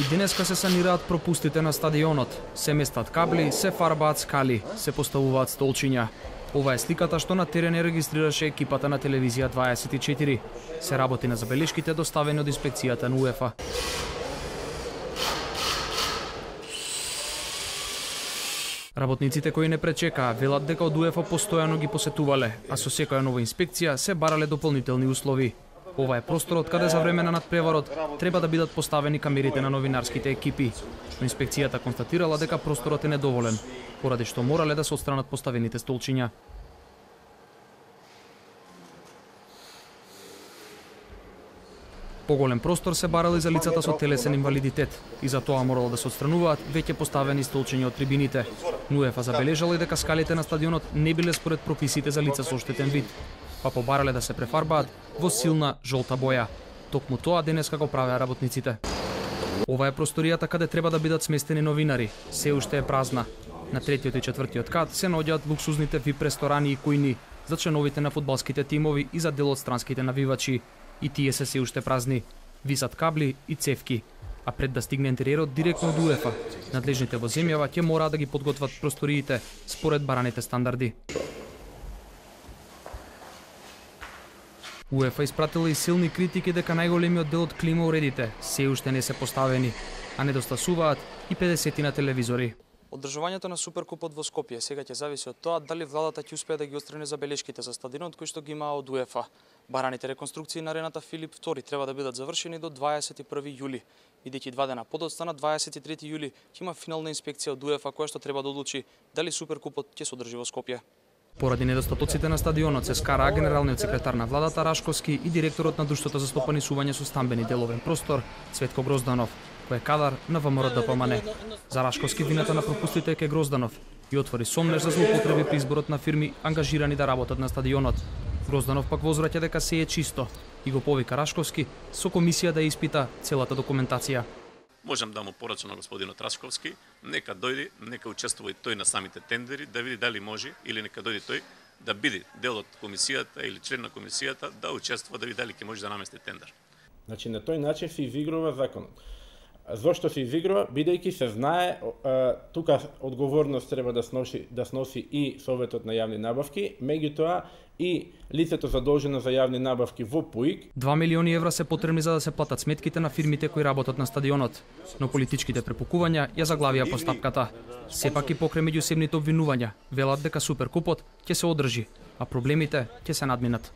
И денеска се санираат пропустите на стадионот. Се местат кабли, се фарбаат скали, се поставуваат столчиња. Ова е сликата што на терен ја регистрираше екипата на телевизија 24. Се работи на забелешките доставени од инспекцијата на УЕФА. Работниците кои не пречекаа велат дека од УЕФА постојано ги посетувале, а со секоја нова инспекција се барале дополнителни услови. Ова е просторот каде за време на надпреварот треба да бидат поставени камерите на новинарските екипи. Но инспекцијата констатирала дека просторот е недоволен, поради што морале да се отстранат поставените столчиња. Поголем простор се барал и за лицата со телесен инвалидитет и за тоа морало да се отстрануваат веќе поставени столчиња од трибините. УЕФА забележала и дека скалите на стадионот не биле според прописите за лица со оштетен вид, па побарале да се префарбаат во силна жолта боја. Токму тоа денеска го правеа работниците. Ова е просторијата каде треба да бидат сместени новинари. Се уште е празна. На третиот и четвртиот кат се наоѓаат луксузните VIP ресторани и кујни за членовите на фудбалските тимови и за дел од странските навивачи. И тие се уште празни. Висат кабли и цевки. А пред да стигне интериерот директно од УЕФА, надлежните во земјава ќе мораат да ги подготват просториите според бараните стандарди. УЕФА испратила и силни критики дека најголемиот дел од клима уредите се уште не се поставени, а недостасуваат и 50 на телевизори. Одржувањето на Суперкупот во Скопје сега ќе зависи од тоа дали владата ќе успее да ги отстрани забелешките за стадионот кои што ги имаа од УЕФА. Бараните реконструкции на арената Филип II треба да бидат завршени до 21 јули, бидејќи 2 дена подоцна на 23 јули ќе има финална инспекција од УЕФА која што треба да одлучи дали Суперкупот ќе се одржи во Скопје. Поради недостатоците на стадионот се скараа генералниот секретар на владата Рашковски и директорот на Друштвото за стопанисување со стамбени деловен простор Цветко Грозданов, кој е кадар на ВМРО-ДПМН. За Рашковски вината на пропустите е ке Грозданов и отвори сомнеж за злоупотреби при изборот на фирми ангажирани да работат на стадионот. Грозданов пак возвраќа дека се е чисто и го повика Рашковски со комисија да испита целата документација. Можам да му порачам на господинот Рашковски, нека дојде, нека учествува и тој на самите тендери, да види дали може или нека дојде тој да биде дел од комисијата или член на комисијата да учествува, да види дали ќе може да намести тендер. Значи на тој начин се изигрува законот. Зошто се изигрува? Бидејќи се знае, тука одговорност треба да сноси и Советот на јавни набавки, меѓутоа и лицето задолжено за јавни набавки во ПУИК. 2 милиони евра се потребни за да се платат сметките на фирмите кои работат на стадионот, но политичките препукувања ја заглавија постапката. Сепак и покрај меѓусебните обвинувања, велат дека Суперкупот ќе се одржи, а проблемите ќе се надминат.